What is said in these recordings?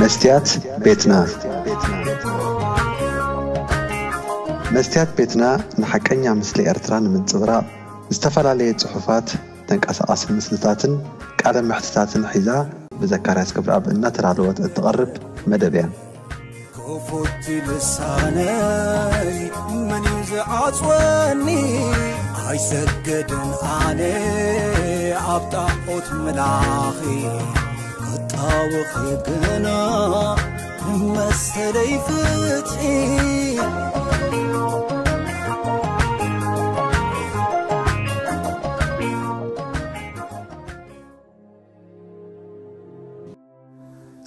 መስትያት ቤትና። መስትያት ቤትና ንሓቀኛ ምስሊ ኤርትራ ንምንጽብራቕ ዝተፈላለየ ጽሑፋት፣ ተንቀሳቓሲ ምስልታትን ቃለ መሕትታትን ሒዛ ብዘካርያስ ክብረኣብ እናተዳለወት እትቐርብ መደብ እያ። ክፉት ልሳነይ መን እዩ ዝዓጽወኒ? ኣይሰግድን ኣነ ኣብ ጣዖት ምላኺ፣ ክጣወኺ ግና መሰለይ ፍትሒ።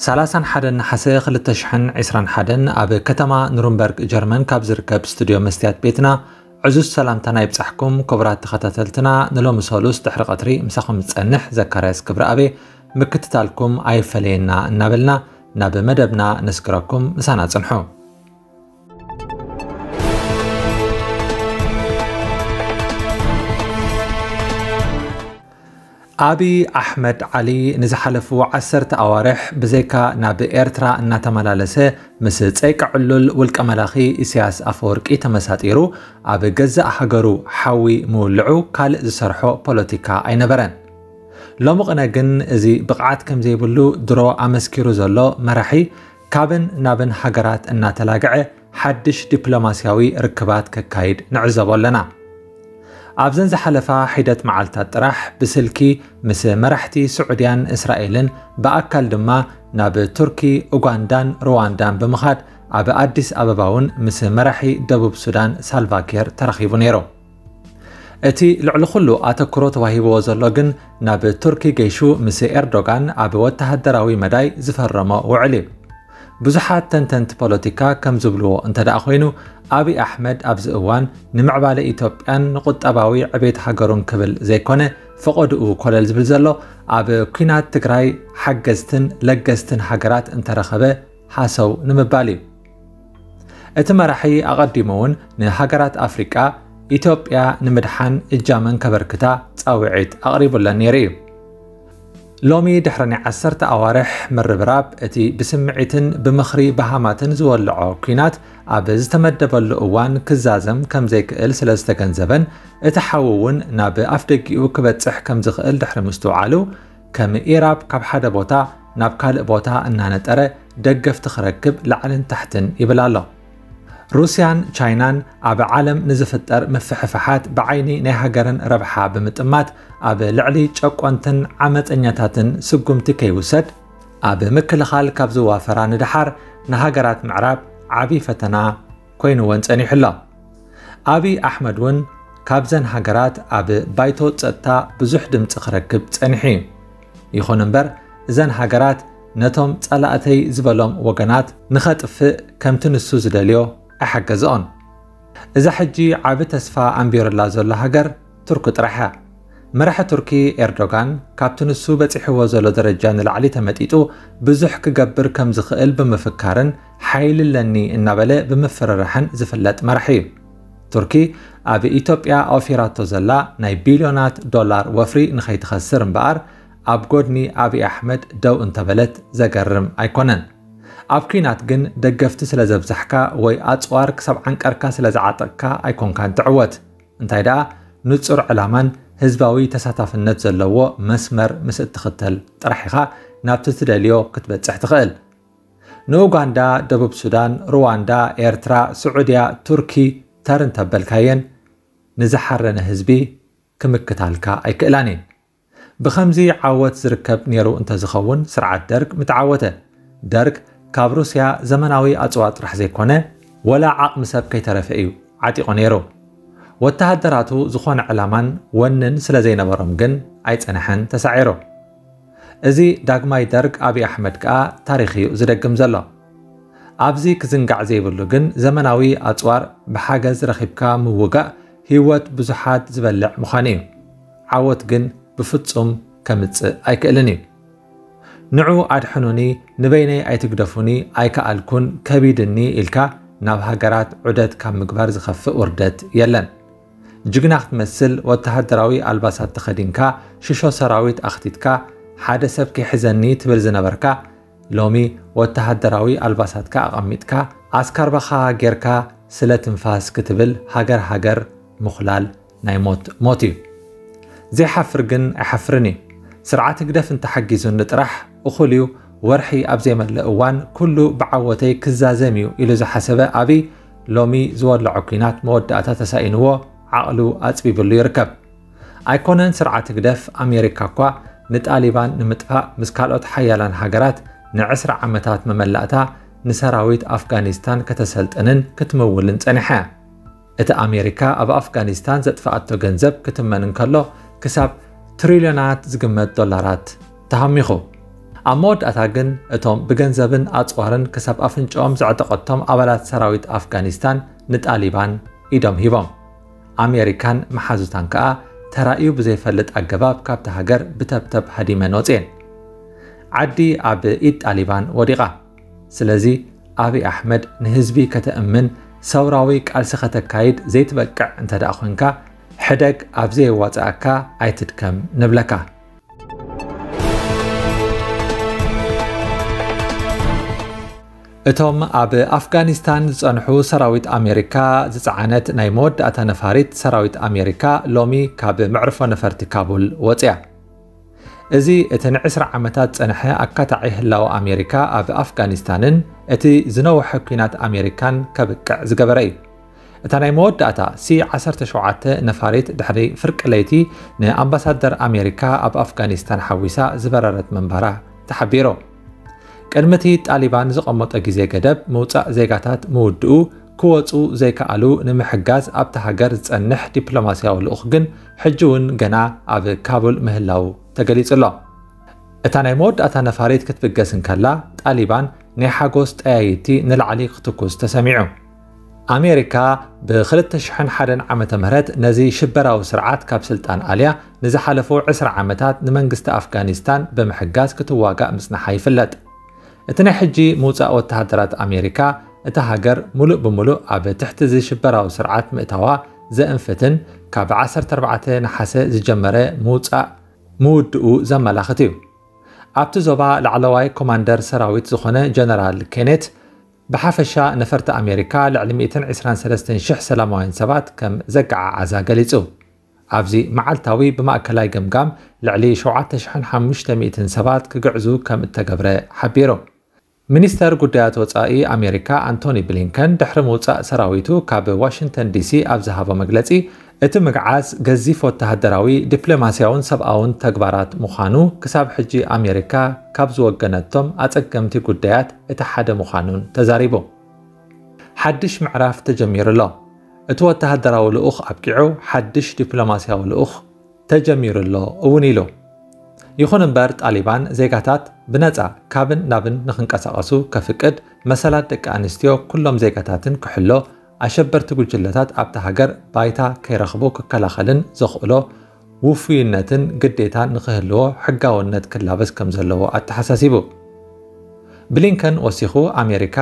ሰላሳን ሓደን ነሓሰ ክልተ ሽሕን ዕስራን ሓደን ኣብ ከተማ ኑርንበርግ ጀርመን ካብ ዝርከብ ስቱድዮ መስትያት ቤትና ዕዙዝ ሰላምታና ይብጻሕኩም። ክቡራት ተኸታተልትና፣ ንሎሚ ሰሉስ ድሕሪ ቀትሪ ምሳኹም ዝጸንሕ ዘካርያስ ክብረኣብ ምክትታልኩም ኣይፈለየና እናበልና ናብ መደብና ነስግረኩም። ምሳና ጽንሑ። ኣብይ ኣሕመድ ዓሊ ንዝሓለፉ ዓሰርተ ኣዋርሕ ብዘይካ ናብ ኤርትራ እናተመላለሰ ምስ ጸይቂ ዕሉል ውልቀ መላኺ ኢሳያስ ኣፈወርቂ ተመሳጢሩ ኣብ ገዛእ ሃገሩ ሓዊ ምውልዑ ካልእ ዝሰርሖ ፖለቲካ ኣይነበረን። ሎሚ ቅነ ግን እዚ ብቕዓት ከም ዘይብሉ ድሮ ኣመስኪሩ ዘሎ መራሒ ካብን ናብን ሃገራት እናተላግዐ ሓድሽ ዲፕሎማስያዊ ርክባት ከካይድ ንዕዘቦ ኣለና። ኣብዘን ዝሓለፋ ሒደት መዓልታት ጥራሕ ብስልኪ ምስ መራሕቲ ስዑድያን እስራኤልን ብኣካል ድማ ናብ ቱርኪ፣ ኡጋንዳን ሩዋንዳን ብምኻድ ኣብ ኣዲስ ኣበባ እውን ምስ መራሒ ደቡብ ሱዳን ሳልቫኪር ተራኺቡ ነይሩ። እቲ ልዕሊ ኩሉ ኣተኩሮ ተዋሂብዎ ዘሎ ግን ናብ ቱርኪ ገይሹ ምስ ኤርዶጋን ኣብ ወተሃደራዊ መዳይ ዝፈረሞ ውዕል እዩ። ብዙሓት ተንተንቲ ፖለቲካ ከም ዝብልዎ እንተ ደኣ ኮይኑ፣ ኣብይ ኣሕመድ ኣብዚ እዋን ንምዕባለ ኢትዮጵያን ንቁጠባዊ ዕቤት ሃገሩን ክብል ዘይኮነ፣ ፈቐድኡ ኮለል ዝብል ዘሎ ኣብ ኲናት ትግራይ ሓገዝትን ለገስትን ሃገራት እንተረኸበ ሃሰው ንምባል እዩ። እቲ መራሒ ኣቐዲሙ እውን ንሃገራት ኣፍሪቃ ኢትዮጵያ ንምድሓን እጃመን ከበርክታ ጻውዒት ኣቕሪቡለን ነይሩ እዩ። ሎሚ ድሕሪ ናይ ዓሰርተ ኣዋርሕ ምርብራብ፣ እቲ ብስምዒትን ብምኽሪ በሃማትን ዝወልዖ ኲናት ኣብ ዝተመደበሉ እዋን ክዛዘም ከም ዘይክእል ስለ ዝተገንዘበን፣ እቲ ሓዊ እውን ናብ ኣፍደጊኡ ክበጽሕ ከም ዝኽእል ድሕሪ ምስትውዓሉ፣ ከም ኢራብ ካብ ሓደ ቦታ ናብ ካልእ ቦታ እናነጠረ ደገፍቲ ክረክብ ላዕልን ታሕትን ይብል ኣሎ። ሩስያን ቻይናን ኣብ ዓለም ንዝፍጠር ምፍሕፍሓት ብዓይኒ ናይ ሃገርን ረብሓ ብምጥማት፣ ኣብ ልዕሊ ጨቆንትን ዓመጸኛታትን ስጉምቲ ከይውሰድ፣ ኣብ ምክልኻል ካብ ዝዋፈራ ንደሓር ንሃገራት ምዕራብ ዓቢ ፈተና ኮይንወን ጸኒሑ ኣሎ። ኣብይ ኣሕመድ እውን ካብዘን ሃገራት ኣብ ባይቶ ጸጥታ ብዙሕ ድምጺ ክረክብ ጸኒሑ እዩ። ይኹን እምበር፣ እዘን ሃገራት ነቶም ጸላእተይ ዝበሎም ወገናት ንኸጥፍእ ከምቲ ንሱ ዝደልዮ ኣይሓገዝኦን። እዛ ሕጂ ዓቢ ተስፋ ኣንቢሩላ ዘሎ ሃገር ቱርኪ ጥራሕ እያ። መራሒ ቱርኪ ኤርዶጋን ካብቲ ንሱ በጺሕዎ ዘሎ ደረጃ ንላዕሊ ተመጢጡ ብዙሕ ክገብር ከም ዝኽእል ብምፍካርን ሓይሊ ኣለኒ እናበለ ብምፍርራሕን ዝፍለጥ መራሒ እዩ። ቱርኪ ኣብ ኢትዮጵያ ኣውፊራቶ ዘላ ናይ ቢልዮናት ዶላር ወፍሪ ንኸይትኸስር እምበኣር ኣብ ጎድኒ ኣብይ ኣሕመድ ደው እንተበለት ዘገርም ኣይኮነን። ኣብ ኲናት ግን ደገፍቲ ስለ ዘብዛሕካ ወይ ኣጽዋር ክሳብ ዓንቀርካ ስለ ዝዓጠቕካ ኣይኮንካን ትዕወት። እንታይ ደኣ ንጹር ዕላማን ህዝባዊ ተሳታፍነት ዘለዎ መስመር ምስ እትኽተል ጥራሕ ኢኻ ናብቲ ትደልዮ ክትበጽሕ ትኽእል። ንኡጋንዳ፣ ደቡብ ሱዳን፣ ሩዋንዳ፣ ኤርትራ፣ ስዑድያ፣ ቱርኪ ተር እንተበልካየን ንዝሓረነ ህዝቢ ክምክታልካ ኣይክእላን እየን። ብኸምዚ ዓወት ዝርከብ ነይሩ እንተዝኸውን ስርዓት ደርግ ምተዓወተ። ደርግ ካብ ሩስያ ዘመናዊ ኣጽዋር ጥራሕ ዘይኮነ ወላ ዓቕሚ ሰብ ከይተረፈ እዩ ዓጢቑ ነይሩ። ወተሃደራቱ ዝኾነ ዕላማን ወንን ስለ ዘይነበሮም ግን ኣይጸንሐን ተሳዒሩ። እዚ ዳግማይ ደርግ ኣብይ ኣሕመድ ከኣ ታሪኽ እዩ ዝደግም ዘሎ። ኣብዚ ክዝንጋዕ ዘይብሉ ግን ዘመናዊ ኣጽዋር ብሓገዝ ረኺብካ ምውጋእ ህይወት ብዙሓት ዝበልዕ ምዃኑ እዩ። ዓወት ግን ብፍጹም ከምጽእ ኣይክእልን እዩ። ንዑ ኣድሕኑኒ፣ ንበይነይ ኣይትግደፉኒ፣ ኣይከኣልኩን፣ ከቢድኒ ኢልካ ናብ ሃገራት ዑደት ካብ ምግባር ዝኸፍእ ውርደት የለን። ጅግና ክትመስል ወተሃደራዊ ኣልባሳት ተኸዲንካ ሽሾ ሰራዊት ኣኽቲትካ ሓደ ሰብ ከይሕዘኒ ትብል ዝነበርካ ሎሚ ወተሃደራዊ ኣልባሳትካ ኣቐሚጥካ፣ ኣስካርባኻ ጌርካ፣ ስለ ትንፋስ ክትብል ሃገር ሃገር ምኹላል ናይ ሞት ሞት እዩ። ዘይሓፍር ግን ኣይሓፍርን እዩ። ስርዓት ህግደፍ እንተሓጊዙኒ ጥራሕ እኹል እዩ። ወርሒ ኣብ ዘይመልእ እዋን ኩሉ ብዓወተይ ክዛዘም እዩ ኢሉ ዝሓሰበ ኣብይ፣ ሎሚ ዝወለዖ ኲናት መወዳእታ ተሳኢንዎ፣ ዓቕሉ ኣጽቢብሉ ይርከብ። ኣይኮነን ስርዓት ህግደፍ፣ ኣሜሪካ እኳ ንጣሊባን ንምጥፋእ ምስ ካልኦት ሓያላን ሃገራት ንዕስራ ዓመታት መመላእታ ንሰራዊት ኣፍጋኒስታን ከተሰልጥንን ክትምውልን ጸኒሓ እያ። እቲ ኣሜሪካ ኣብ ኣፍጋኒስታን ዘጥፍኣቶ ገንዘብ ክትመን እንከሎ፣ ክሳብ ትሪልዮናት ዝግመት ዶላራት ተሃሚኹ። ኣብ መወዳእታ ግን፣ እቶም ብገንዘብን ኣጽዋርን ክሳብ ኣፍንጫኦም ዘዕጠቐቶም ኣባላት ሰራዊት ኣፍጋኒስታን ንጣሊባን ኢዶም ሂቦም። ኣሜሪካን መሓዙታን ከኣ፣ ተራእዩ ብዘይፈልጥ ኣገባብ ካብቲ ሃገር ብተብተብ ሃዲመን ወጽኤን። ዓዲ ኣብ ኢድ ጣሊባን ወዲቓ። ስለዚ፣ ኣብይ ኣሕመድ ንህዝቢ ከተእምን፣ ሰውራዊ ቃልሲ ከተካይድ ዘይትበቅዕ እንተ ደኣ ኾንካ፣ ሕደግ ኣብ ዘየዋጽኣካ ኣይትድከም ንብለካ። እቶም ኣብ ኣፍጋኒስታን ዝጸንሑ ሰራዊት ኣሜሪካ ዝጸዓነት ናይ መወዳእታ ነፋሪት ሰራዊት ኣሜሪካ ሎሚ ካብ መዕርፎ ነፈርቲ ካቡል ወጽያ። እዚ እቲ ንዕስራ ዓመታት ጸንሐ ኣካታዒ ህላወ ኣሜሪካ ኣብ ኣፍጋኒስታንን እቲ ዝነውሐ ኲናት ኣሜሪካን ከብቅዕ ዝገበረ እዩ። እታ ናይ መወዳእታ ሲ ዓሰርተ ሸውዓተ ነፋሪት ድሕሪ ፍርቂ ለይቲ ንኣምባሳደር ኣሜሪካ ኣብ ኣፍጋኒስታን ሓዊሳ ዝበረረት ምንባራ ተሓቢሩ። ቅድሚ እቲ ጣሊባን ዝቐመጦ ግዜ ገደብ ምውጻእ ዜጋታት ምውድኡ፣ ክወጹ ዘይከኣሉ ንምሕጋዝ ኣብታ ሃገር ዝጸንሕ ዲፕሎማስያዊ ልኡኽ ግን ሕጂ እውን ገና ኣብ ካቡል ምህላዉ ተገሊጹ ኣሎ። እታ ናይ መወዳእታ ነፋሪት ክትብገስ እንከላ፣ ጣሊባን ናይ ሓጎስ ጠያይቲ ንላዕሊ ክትኩስ ተሰሚዑ። ኣሜሪካ ብ ክልተ ሽሕን ሓደን ዓመተ ምህረት ነዚ ሽበራዊ ስርዓት ካብ ስልጣን ኣልያ ንዝሓለፉ ዕስራ ዓመታት ንመንግስቲ ኣፍጋኒስታን ብምሕጋዝ ክትዋጋእ ምጽናሓ ይፍለጥ። እቲ ናይ ሕጂ ምውጻእ ወተሃደራት ኣሜሪካ እታ ሃገር ሙሉእ ብሙሉእ ኣብ ትሕቲ እዚ ሽበራዊ ስርዓት ምእታዋ ዘእንፍትን ካብ ዓሰርተ ኣርባዕተ ነሓሰ ዝጀመረ ምውጻእ ምውድኡ ዘመላኽት እዩ። ኣብቲ ዞባ ላዕለዋይ ኮማንደር ሰራዊት ዝኾነ ጀነራል ኬኔት፣ ብሓፈሻ ነፈርቲ ኣሜሪካ ልዕሊ ሚእትን ዕስራን ሰለስተን ሽሕ ሰላማውያን ሰባት ከም ዘገዓዓዛ ገሊጹ። ኣብዚ መዓልታዊ ብማእከላይ ገምጋም ልዕሊ ሸውዓተ ሽሕን ሓሙሽተ ሚእትን ሰባት ክግዕዙ ከም እተገብረ ሓቢሩ። ሚኒስተር ጉዳያት ወጻኢ ኣሜሪካ ኣንቶኒ ብሊንከን ድሕሪ ምውጻእ ሰራዊቱ ካብ ዋሽንግተን ዲሲ ኣብ ዝሃቦ መግለጺ፣ እቲ ምግዓዝ ገዚፍ ወተሃደራዊ፣ ዲፕሎማስያውን ሰብኣውን ተግባራት ምዃኑ ክሳብ ሕጂ ኣሜሪካ ካብ ዝወገነቶም ኣጸገምቲ ጉዳያት እቲ ሓደ ምዃኑን ተዛሪቡ። ሓድሽ ምዕራፍ ተጀሚሩ ኣሎ። እቲ ወተሃደራዊ ልኡኽ ኣብቂዑ፣ ሓድሽ ዲፕሎማስያዊ ልኡኽ ተጀሚሩ ኣሎ እውን ኢሉ። ይኹን እምበር፣ ጣሊባን ዜጋታት ብነጻ ካብን ናብን ንኽንቀሳቐሱ ከፍቅድ፣ መሰላት ደቂ ኣንስትዮ ኩሎም ዜጋታትን ክሕሎ፣ ኣሸበርቲ ጉጅለታት ኣብታ ሃገር ባይታ ከይረኽቡ ክከላኸልን ዘኽእሎ ውፉይነትን ግዴታን ንኽህልዎ ሕጋውነት ክላበስ ከም ዘለዎ ኣተሓሳሲቡ። ብሊንከን ወሲኹ፣ ኣሜሪካ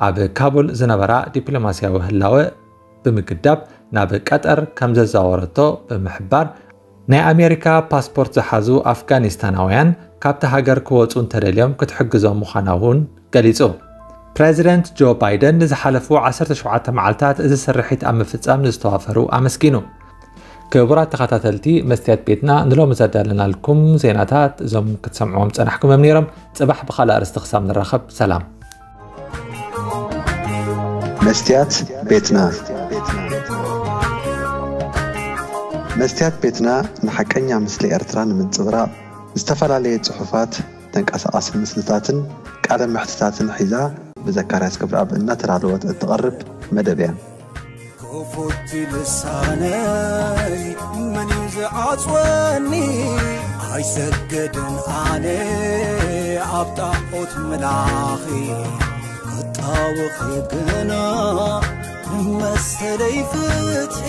ኣብ ካቡል ዝነበራ ዲፕሎማስያዊ ህላወ ብምግዳብ ናብ ቀጠር ከም ዘዛወረቶ ብምሕባር፣ ናይ ኣሜሪካ ፓስፖርት ዝሓዙ ኣፍጋኒስታናውያን ካብቲ ሃገር ክወጹ እንተደልዮም ክትሕግዞም ምዃና እውን ገሊጹ። ፕረዚደንት ጆ ባይደን ንዝሓለፉ ዓሰርተ ሸውዓተ መዓልታት እዚ ስርሒት ኣብ ምፍጻም ንዝተዋፈሩ ኣመስጊኑ። ክቡራት ተኸታተልቲ መስትያት ቤትና፣ ንሎሚ ዘዳለናልኩም ዜናታት እዞም ክትሰምዕዎም ጸናሕኩም እዮም ነይሮም። ጽባሕ ብኻልእ ኣርእስቲ ክሳብ ንራኸብ፣ ሰላም። መስትያት ቤትና። መስትያት ቤትና ንሓቀኛ ምስሊ ኤርትራ ንምንጽብራቕ፣ ዝተፈላለየ ጽሑፋት፣ ተንቀሳቓሲ ምስልታትን ቃለ መሕትታትን ሒዛ ብዘካርያስ ገብረኣብ እናተዳለወት እትቐርብ መደብ እያ። ክፉት ልሳነይ መን እዩ ዝዓጽወኒ? ኣይሰግድን ኣነ ኣብ ጣዖት ምላኺ፣ ክጣወኺ ግና መሰለይ ፍትሒ።